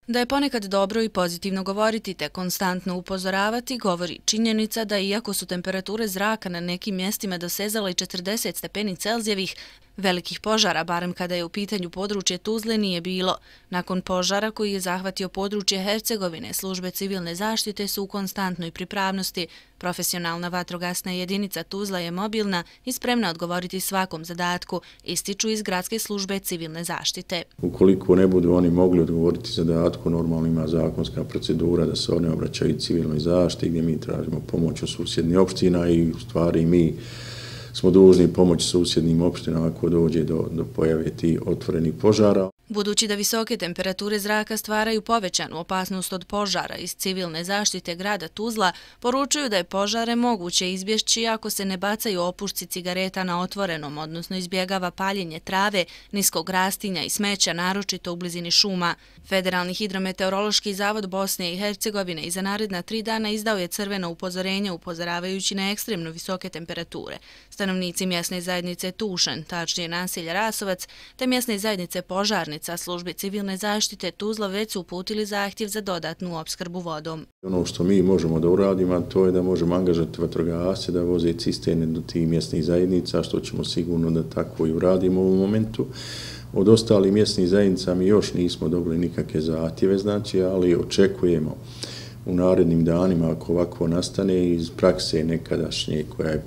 Da je ponekad dobro i pozitivno govoriti te konstantno upozoravati, govori činjenica da iako su temperature zraka na nekim mjestima dosezale i 40 stepeni Celzijevih, velikih požara, barem kada je u pitanju područje Tuzle, nije bilo. Nakon požara koji je zahvatio područje Hercegovine, službe civilne zaštite su u konstantnoj pripravnosti. Profesionalna vatrogasna jedinica Tuzla je mobilna i spremna odgovoriti svakom zadatku, ističu iz gradske službe civilne zaštite. Ukoliko ne budu oni mogli odgovoriti zadatku, normalno ima zakonska procedura da se one obraćaju civilnoj zaštiti gdje mi tražimo pomoć od susjednih opština i u stvari mi smo dužni pomoći susjednim opštinama ako dođe do pojave tih otvorenih požara. Budući da visoke temperature zraka stvaraju povećanu opasnost od požara, iz civilne zaštite grada Tuzla poručuju da je požare moguće izbjeći ako se ne bacaju opušci cigareta na otvorenom, odnosno izbjegava paljenje trave, niskog rastinja i smeća, naročito u blizini šuma. Federalni hidrometeorološki zavod Bosne i Hercegovine i za naredna 3 dana izdao je crveno upozorenje upozoravajući na ekstremno visoke temperature. Stanovnici mjesne zajednice Tušan, tačnije naselja Rasovac, te mjesne zajednice Požarnica, službi civilne zaštite Tuzla već su uputili zahtjev za dodatnu opskrbu vodom. Ono što mi možemo da uradimo, to je da možemo angažati vatrogasce da voze cisterne do tih mjesnih zajednica, što ćemo sigurno da tako i uradimo u ovom momentu. Od ostalih mjesnih zajednica mi još nismo dobili nikakve zahtjeve, ali očekujemo u narednim danima, ako ovako nastane, iz prakse nekadašnje koja je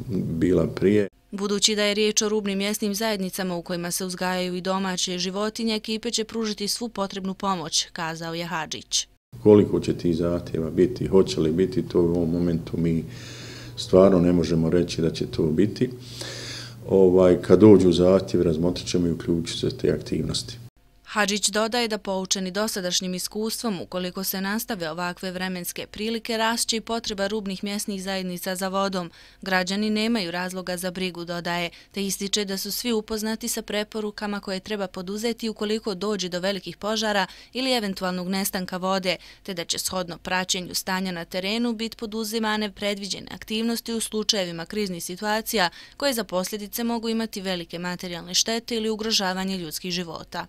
bila prije. Budući da je riječ o rubnim mjesnim zajednicama u kojima se uzgajaju i domaće životinje, ekipe će pružiti svu potrebnu pomoć, kazao je Hadžić. Koliko će tih zahtjeva biti, hoće li biti, to u ovom momentu mi stvarno ne možemo reći da će to biti. Kad dođu zahtjevi, razmotrit ćemo i uključiti se te aktivnosti. Hadžić dodaje da poučeni dosadašnjim iskustvom, ukoliko se nastave ovakve vremenske prilike, rašće i potreba rubnih mjesnih zajednica za vodom. Građani nemaju razloga za brigu, dodaje, te ističe da su svi upoznati sa preporukama koje treba poduzeti ukoliko dođe do velikih požara ili eventualnog nestanka vode, te da će shodno praćenju stanja na terenu biti poduzimane predviđene aktivnosti u slučajevima kriznih situacija koje za posljedice mogu imati velike materijalne štete ili ugrožavanje ljudskih života.